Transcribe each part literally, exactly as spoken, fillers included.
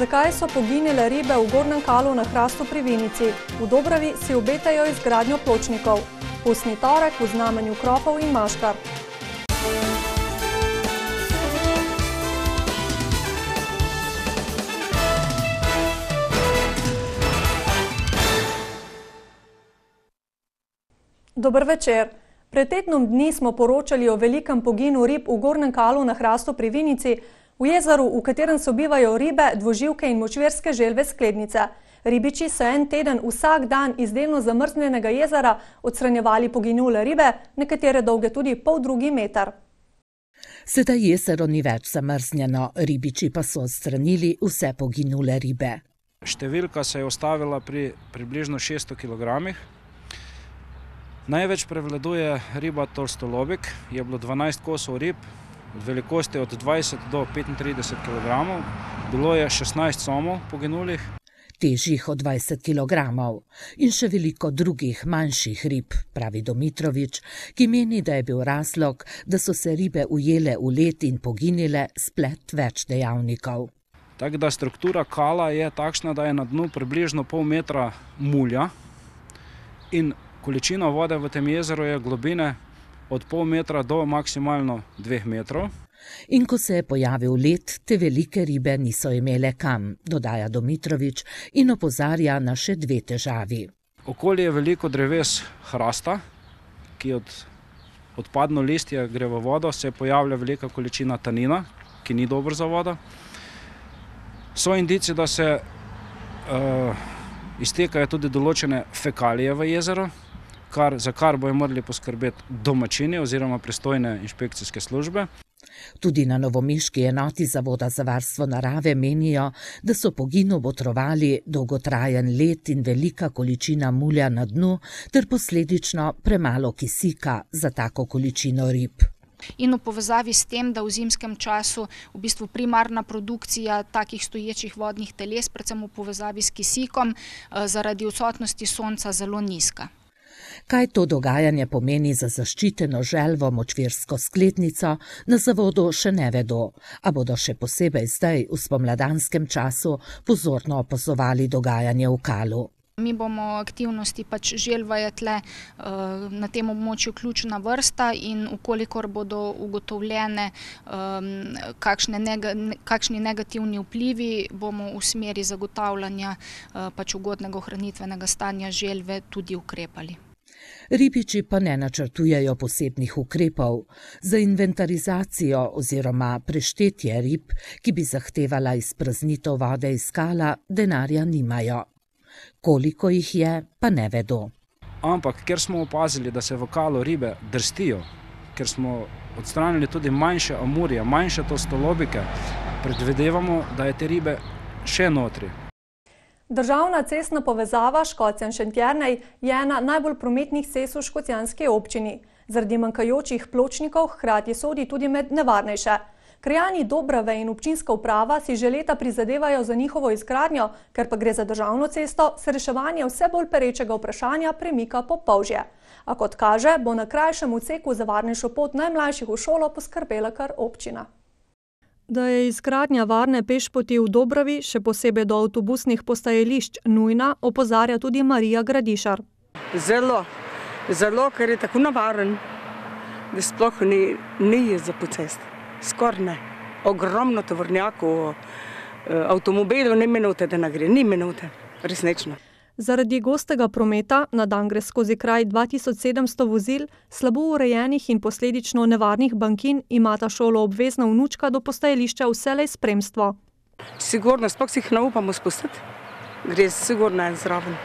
Zakaj so poginile ribe v Gornjem Kalu na Hrastu pri Vinici? V Dobravi si obetajo izgradnjo pločnikov. Pustni torek v znamenju kropov in maškar. Dober večer. Pred tednom dni smo poročali o velikem poginu rib v Gornjem Kalu na Hrastu pri Vinici, v jezeru, v katerem sobivajo ribe, dvoživke in močvirske želve sklednice. Ribiči so en teden vsak dan iz delno zamrznjenega jezera odstranjevali poginule ribe, nekatere dolge tudi pol drugi meter. Sedaj jezero ni več zamrznjeno, ribiči pa so odstranili vse poginule ribe. Številka se je ustavila pri približno šeststo kilogramih. Največ prevladuje riba tolstolobik, je bilo dvanajst kosov rib, od velikosti od dvajset do petintrideset kilogramov, bilo je šestnajst somov poginulih. Težjih od dvajset kilogramov in še veliko drugih manjših rib, pravi Domitrovič, ki meni, da je bil razlog, da so se ribe ujele v led in poginile, splet več dejavnikov. Tako da struktura kala je takšna, da je na dnu približno pol metra mulja in količina vode v tem jezeru je globine od pol metra do maksimalno dveh metrov. In ko se je pojavil led, te velike ribe niso imele kam, dodaja Domitrovič in opozarja na še dve težavi. Okoli je veliko dreves hrasta, ki od odpadno listje gre v vodo, se pojavlja velika količina tanina, ki ni dober za vodo. So indici, da se uh, iztekajo tudi določene fekalije v jezero, Kar, za kar bojo morali poskrbeti domačini oziroma pristojne inšpekcijske službe. Tudi na novomeški enoti Zavoda za varstvo narave menijo, da so poginu botrovali dolgotrajen led in velika količina mulja na dnu ter posledično premalo kisika za tako količino rib. In v povezavi s tem, da v zimskem času v bistvu primarna produkcija takih stoječih vodnih teles, predvsem v povezavi s kisikom, zaradi odsotnosti sonca zelo nizka. Kaj to dogajanje pomeni za zaščiteno želvo močvirsko sklednico, na zavodu še ne vedo, a bodo še posebej zdaj v spomladanskem času pozorno opazovali dogajanje v Kalu. Mi bomo aktivnosti pač želva je tle na tem območju ključna vrsta in ukolikor bodo ugotovljene kakšne nega, kakšni negativni vplivi, bomo v smeri zagotavljanja pač ugodnega ohranitvenega stanja želve tudi ukrepali. Ribiči pa ne načrtujejo posebnih ukrepov. Za inventarizacijo oziroma preštetje rib, ki bi zahtevala izpraznitev vode iz Kala, denarja nimajo. Koliko jih je, pa ne vedo. Ampak, ker smo opazili, da se v Kalu ribe drstijo, ker smo odstranili tudi manjše amurje, manjše tolstolobike, predvidevamo, da je te ribe še notri. Državna cestna povezava Škocjan-Šentjernej je ena najbolj prometnih cest v škocjanski občini. Zaradi manjkajočih pločnikov hkrati sodi tudi med nevarnejše. Krajani Dobrave in občinska uprava si že leta prizadevajo za njihovo izgradnjo, ker pa gre za državno cesto, se reševanje vse bolj perečega vprašanja premika po polžje. A kot kaže, bo na krajšem odseku za varnejšo pot najmlajših v šolo poskrbela kar občina. Da je izgradnja varne pešpoti v Dobravi, še posebej do avtobusnih postajališč, nujna, opozarja tudi Marija Gradišar. Zelo, zelo, ker je tako navaren, da sploh ni, ni za po cesti. Skoraj ne. Ogromno tovornjakov, avtomobilov, ni minute, da ne gre, ni minute, resnično. Zaradi gostega prometa na dan gre skozi kraj dva tisoč sedemsto vozil, slabo urejenih in posledično nevarnih bankin imata šolo obvezna vnučka do postajališča vselej spremstvo. Sigurno, sploh si jih ne upamo spustiti, gre sigurno zraven.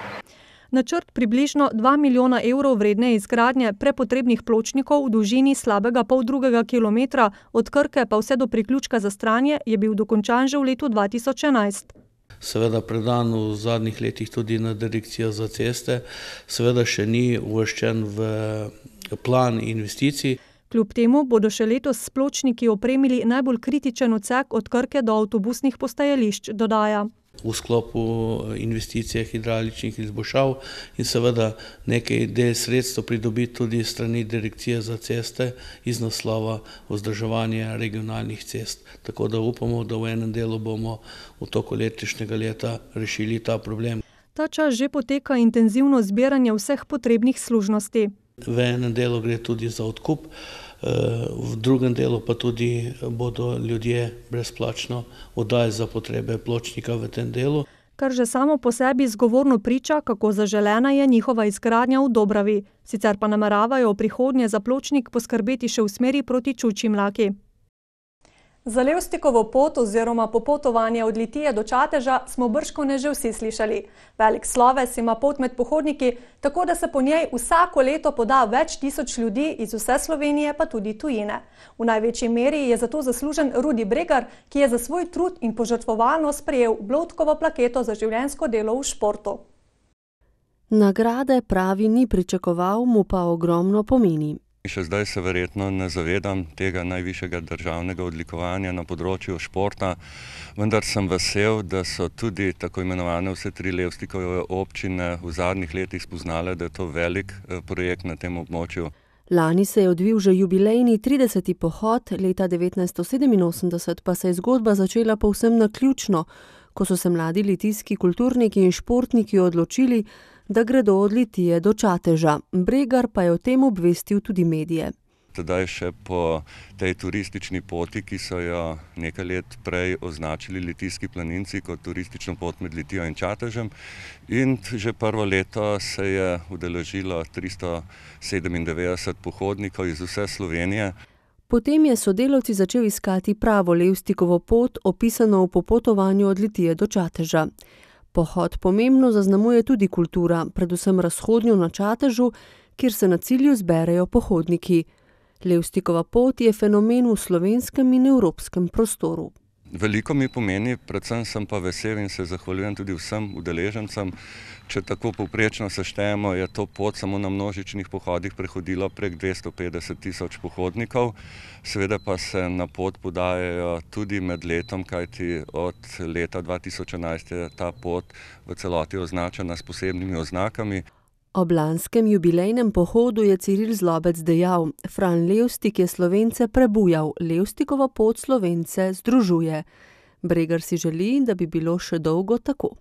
Načrt približno dva milijona evrov vredne izgradnje prepotrebnih pločnikov v dolžini slabega pol drugega kilometra od Krke pa vse do priključka za Stranje je bil dokončan že v letu dva tisoč enajst. Seveda predan v zadnjih letih tudi na direkcijo za ceste, seveda še ni uvrščen v plan investicij. Kljub temu bodo še letos s pločniki opremili najbolj kritičen odsek od Krke do avtobusnih postajališč, dodaja. v sklopu investicije hidravličnih izboljšav in seveda nekaj del sredstev pridobiti tudi strani Direkcije za ceste iz naslova vzdrževanja regionalnih cest. Tako da upamo, da v enem delu bomo v toku letošnjega leta rešili ta problem. Ta čas že poteka intenzivno zbiranje vseh potrebnih služnosti. V enem delu gre tudi za odkup, v drugem delu pa tudi bodo ljudje brezplačno oddali za potrebe pločnika v tem delu. Kar že samo po sebi zgovorno priča, kako zaželena je njihova izgradnja v Dobravi. Sicer pa nameravajo v prihodnje za pločnik poskrbeti še v smeri proti Čučji Mlaki. Za Levstikovo pot oziroma popotovanje od Litije do Čateža smo bržkone že vsi slišali. Velik sloves ima pot med pohodniki, tako da se po njej vsako leto poda več tisoč ljudi iz vse Slovenije pa tudi tujine. V največji meri je zato zaslužen Rudi Bregar, ki je za svoj trud in požrtvovalnost prejel Bloudkovo plaketo za življenjsko delo v športu. Nagrade pravi ni pričakoval, mu pa ogromno pomeni. Še zdaj se verjetno ne zavedam tega najvišjega državnega odlikovanja na področju športa, vendar sem vesel, da so tudi tako imenovane vse tri Levstikove občine v zadnjih letih spoznale, da je to velik projekt na tem območju. Lani se je odvil že jubilejni trideseti pohod, leta devetnajststo sedeminosemdeset pa se je zgodba začela povsem naključno, ko so se mladi litijski kulturniki in športniki odločili, da gredo od Litije do Čateža. Bregar pa je o tem obvestil tudi medije. Tedaj še po tej turistični poti, ki so jo nekaj let prej označili litijski planinci kot turistično pot med Litijo in Čatežem. In že prvo leto se je udeležilo tristo sedemindevetdeset pohodnikov iz vse Slovenije. Potem je sodelavci začel iskati pravo Levstikovo pot, opisano v popotovanju od Litije do Čateža. Pohod pomembno zaznamuje tudi kultura, predvsem razhodnjo na Čatežu, kjer se na cilju zberejo pohodniki. Levstikova pot je fenomen v slovenskem in evropskem prostoru. Veliko mi pomeni, predvsem sem pa vesel in se zahvaljujem tudi vsem udeležencem. Če tako povprečno seštejemo, je to pot samo na množičnih pohodih prehodilo prek dvesto petdeset tisoč pohodnikov. Seveda pa se na pot podajajo tudi med letom, kajti od leta dva tisoč enajst je ta pot v celoti označena s posebnimi oznakami. Ob lanskem jubilejnem pohodu je Ciril Zlobec dejal: Fran Levstik je Slovence prebujal, Levstikova pot Slovence združuje. Bregar si želi, da bi bilo še dolgo tako.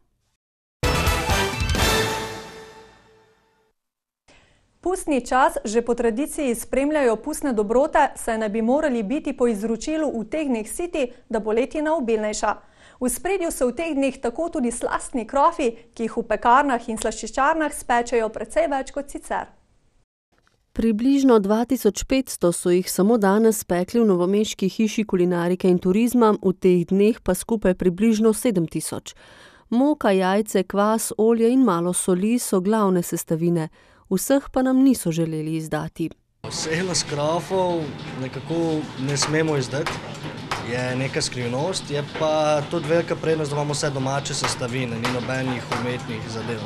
Pustni čas že po tradiciji spremljajo pustne dobrote, saj naj bi morali biti po izročilu v teh dneh siti, da bo letina obilnejša. V spredju so v teh dneh tako tudi slastni krofi, ki jih v pekarnah in slaščičarnah spečejo precej več kot sicer. Približno dva tisoč petsto so jih samo danes spekli v novomeški hiši kulinarike in turizma, v teh dneh pa skupaj približno sedem tisoč. Moka, jajce, kvas, olje in malo soli so glavne sestavine. Vseh pa nam niso želeli izdati. Vseh krofov nekako ne smemo izdati, je neka skrivnost, je pa tudi velika prednost, da imamo vse domače sestavine, ni nobenih umetnih zadev.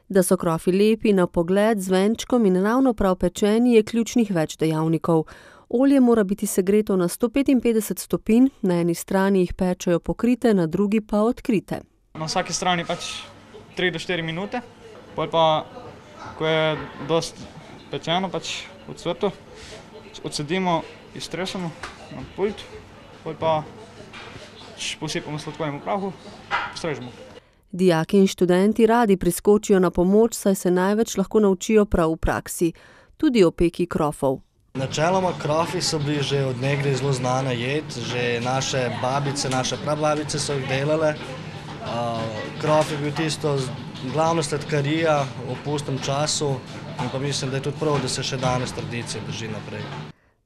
Da so krofi lepi na pogled, z venčkom in ravno prav pečeni, je ključnih več dejavnikov. Olje mora biti segreto na sto petinpetdeset stopinj, na eni strani jih pečejo pokrite, na drugi pa odkrite. Na vsaki strani pač tri do štiri minute, potem pa ko je dost pečeno, pač v cvrtu, odsedimo, iztresemo na pult, potem pa posipamo sladkornemu prahu, postrežemo. Dijaki in študenti radi priskočijo na pomoč, saj se največ lahko naučijo prav v praksi, tudi o peki krofov. Načeloma krofi so bili že od nekdaj zelo znana jed, že naše babice, naše prababice so jih delale. Krof je bil tisto glavna sladkarija v pustnem času in pa mislim, da je tudi prav, da se še danes tradicija drži naprej.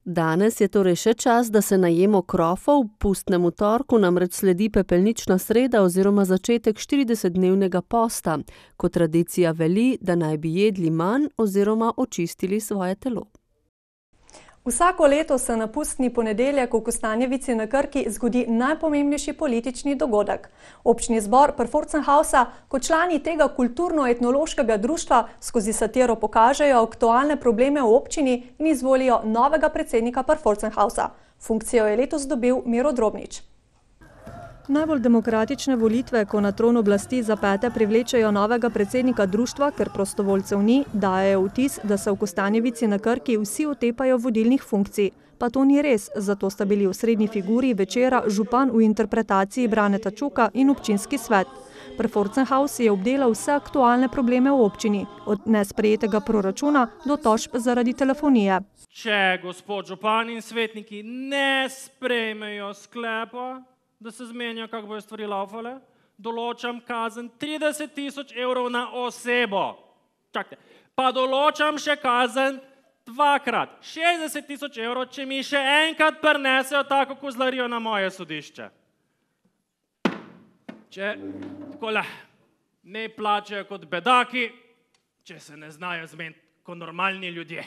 Danes je torej še čas, da se najemo krofov, pustnemu torku namreč sledi pepelnična sreda oziroma začetek štiridesetdnevnega posta, ko tradicija veli, da naj bi jedli manj oziroma očistili svoje telo. Vsako leto se na pustni ponedeljek v Kostanjevici na Krki zgodi najpomembnejši politični dogodek. Občni zbor Pfalzershausa kot člani tega kulturno-etnološkega društva skozi satiro pokažejo aktualne probleme v občini in izvolijo novega predsednika Pfalzershausa. Funkcijo je letos dobil Miro Drobnič. Najbolj demokratične volitve, ko na tron oblasti zapete privlečejo novega predsednika društva, ker prostovoljcev ni, dajejo vtis, da se v Kostanjevici na Krki vsi otepajo vodilnih funkcij. Pa to ni res, zato sta bili v srednji figuri večera župan v interpretaciji Braneta Čuka in občinski svet. Preforcenhaus je obdelal vse aktualne probleme v občini, od nesprejetega proračuna do tožb zaradi telefonije. Če gospod župan in svetniki ne sprejmejo sklepa, da se zmenja, kako bojo stvari laufale, določam kazen trideset tisoč evrov na osebo. Čakajte, pa določam še kazen dvakrat, šestdeset tisoč evrov, če mi še enkrat prinesejo tako kozlarijo na moje sodišče. Če takole ne plačajo kot bedaki, če se ne znajo zmeniti kot normalni ljudje.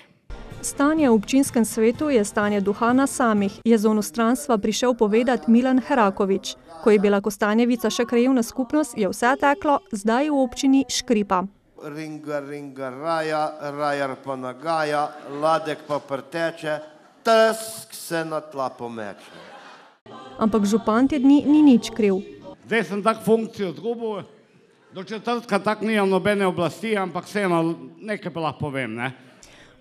Stanje v občinskem svetu je stanje duha na samih, je z onostranstva prišel povedati Milan Herakovič. Ko je bila Kostanjevica še krajevna skupnost, je vse teklo, zdaj v občini škripa. Ringa, ringa, raja, rajar pa nagaja, ladek pa preteče, tesk se na tla pomeče. Ampak župan te dni ni nič kriv. Zdaj sem tak funkcijo zgubil, do četrtka tak nimam nobene oblasti, ampak vseeno nekaj pa lahko povem, ne?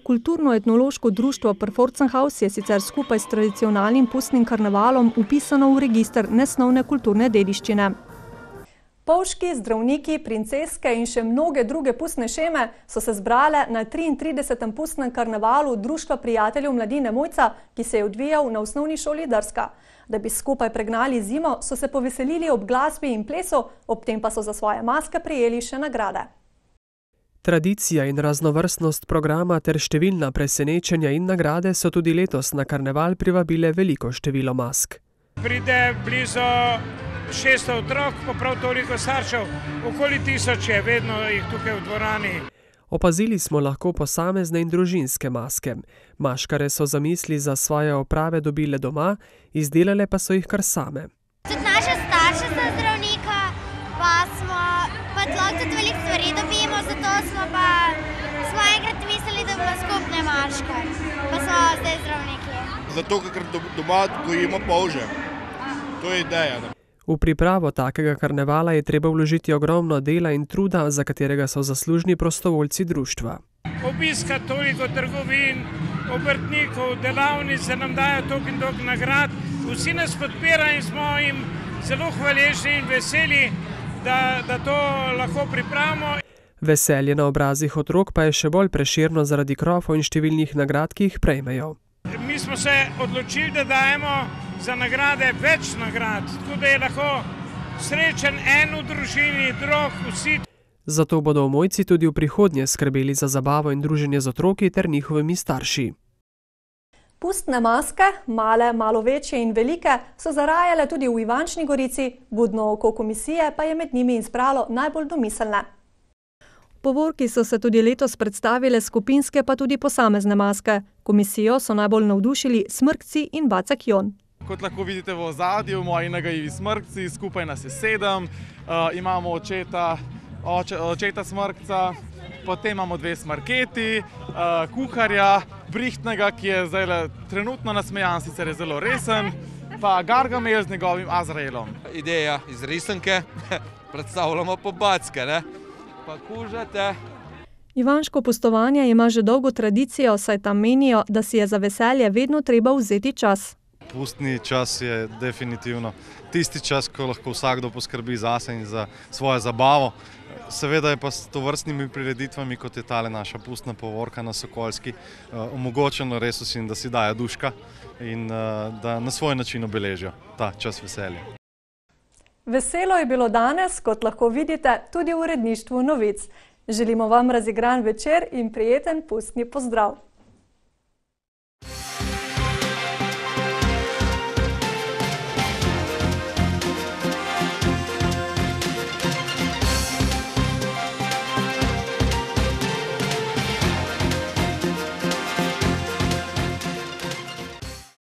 Kulturno-etnološko društvo Preforcenhaus je sicer skupaj s tradicionalnim pustnim karnevalom upisano v register nesnovne kulturne dediščine. Polški, zdravniki, princeske in še mnoge druge pustne šeme so se zbrale na triintridesetem pustnem karnevalu Društva prijateljev mladine Mojca, ki se je odvijal na osnovni šoli Drska. Da bi skupaj pregnali zimo, so se poveselili ob glasbi in plesu, ob tem pa so za svoje maske prejeli še nagrade. Tradicija in raznovrstnost programa ter številna presenečenja in nagrade so tudi letos na karneval privabile veliko število mask. Pride blizu šeststo otrok, pa prav toliko staršev, okoli tisoč je, vedno jih tukaj v dvorani. Opazili smo lahko posamezne in družinske maske. Maškare so zamisli za svoje oprave dobile doma, izdelale pa so jih kar same. Tudi naša starša sta zdravnika, pa smo pa lahko tudi veliko stvari dobimo, zato smo pa smo enkrat mislili, da bomo skupne maške, pa smo zdaj zdravniki. Zato, ker doma gojimo polže. To je ideja. Ne? V pripravo takega karnevala je treba vložiti ogromno dela in truda, za katerega so zaslužni prostovoljci društva. Obiska toliko trgovin, obrtnikov, delavnic, se nam dajo toliko in toliko nagrad. Vsi nas podpirajo in smo jim zelo hvaležni in veseli, da, da to lahko pripravimo. Veselje na obrazih otrok pa je še bolj preširno zaradi krofov in številnih nagrad, ki jih prejmejo. Mi smo se odločili, da dajemo za nagrade več nagrad, tako da je lahko srečen en v družini, drug vsi. Zato bodo v Mojci tudi v prihodnje skrbeli za zabavo in druženje z otroki ter njihovimi starši. Pustne maske, male, malo večje in velike, so zarajale tudi v Ivančni Gorici, budno oko komisije pa je med njimi izbralo najbolj domiselne. V povorki so se tudi letos predstavile skupinske pa tudi posamezne maske. Komisijo so najbolj navdušili Smrkci in Bacek Jon. Kot lahko vidite v ozadju, moji nagajivi Smrkci, skupaj nas je sedem, uh, imamo očeta, oče, očeta Smrkca, potem imamo dve Smrketi, uh, kuharja, Brihtnega, ki je zdaj trenutno nasmejan, sicer je zelo resen, pa Gargamel z njegovim Azraelom. Ideja iz risanke, predstavljamo po Backe, ne? Pa kužate. Ivanško pustovanje ima že dolgo tradicijo, saj tam menijo, da si je za veselje vedno treba vzeti čas. Pustni čas je definitivno tisti čas, ko lahko vsakdo poskrbi zase in za svojo zabavo. Seveda je pa s tovrstnimi prireditvami, kot je tale naša pustna povorka na Sokolski, omogočeno res vsem, da si dajo duška in da na svoj način obeležijo ta čas veselja. Veselo je bilo danes, kot lahko vidite, tudi v uredništvu novic. Želimo vam razigran večer in prijeten pustni pozdrav.